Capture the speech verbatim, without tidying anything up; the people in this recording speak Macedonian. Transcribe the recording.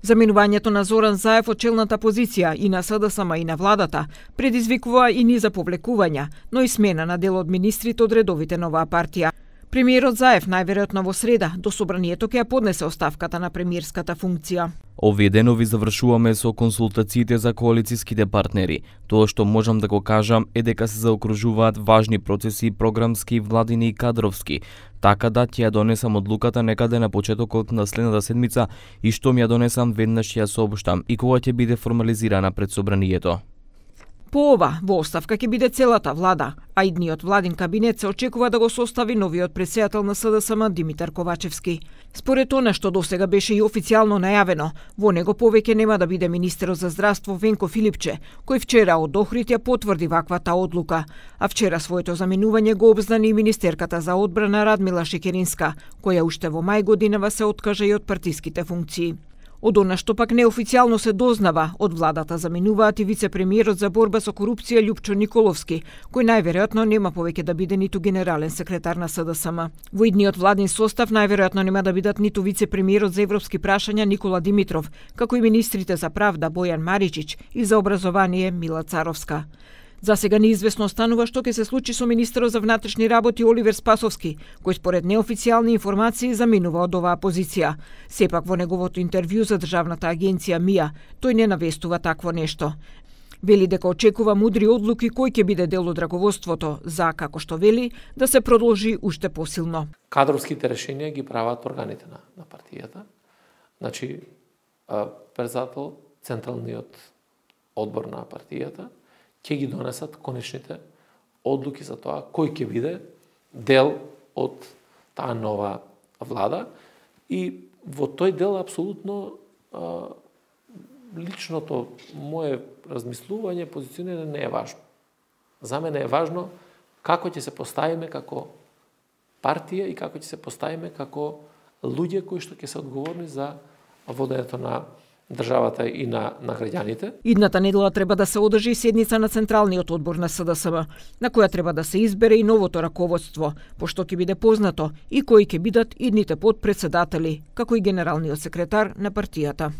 Заменувањето на Зоран Заев од челната позиција и на СДСМ и на владата предизвикува и низа повлекувања, но и смена на дел од министрите од редовите на оваа партија. Премиерот Заев најверојатно во среда до собранието ќе ја поднесе оставката на премиерската функција. Овие денови завршуваме со консултациите за коалицијските партнери. Тоа што можам да го кажам е дека се заокружуваат важни процеси, програмски, владини и кадровски. Така да ќе ја донесам одлуката некаде на почетокот на следната седмица и што ми ја донесам веднаш ќе ја сообштам и кога ќе биде формализирана пред собранието. По ова, во оставка ќе биде целата влада, а идниот владин кабинет се очекува да го состави новиот претседател на СДСМ Димитар Ковачевски. Според она што досега беше и официјално најавено, во него повеќе нема да биде министерот за здравство Венко Филипче, кој вчера од Охрид ја потврди ваквата одлука, а вчера своето заменување го обзнани и министерката за одбрана Радмила Шекеринска, која уште во мај годинава се откажа и од партиските функции. Од она што пак неофицијално се дознава, од владата заменуваат и вице-премиерот за борба со корупција Љупчо Николовски, кој најверојатно нема повеќе да биде ниту генерален секретар на СДСМ. Во идниот владин состав најверојатно нема да бидат ниту вице-премиерот за европски прашања Никола Димитров, како и министрите за правда Бојан Маричич и за образование Мила Царовска. За сега неизвестно останува што ќе се случи со министерот за внатрешни работи Оливер Спасовски, кој според неофицијални информации заменува од оваа позиција. Сепак во неговото интервју за државната агенција МИА, тој не навестува такво нешто. Вели дека очекува мудри одлуки кој ќе биде дел од раководството за, како што вели, да се продолжи уште посилно. Кадровските решенија ги прават органите на, на партијата. Значи, председател, централниот одбор на партијата, ќе ги донесат конечните одлуки за тоа кој ќе биде дел од таа нова влада и во тој дел апсолутно а, личното мое размислување, позиционирање не е важно. За мене е важно како ќе се поставиме како партија и како ќе се поставиме како луѓе кои што ќе се одговорни за водењето на државата и на, на граѓаните. Идната недела треба да се одржи седница на Централниот одбор на СДСМ, на која треба да се избере и новото раководство, пошто ќе биде познато и кои ќе бидат идните подпредседатели, како и генералниот секретар на партијата.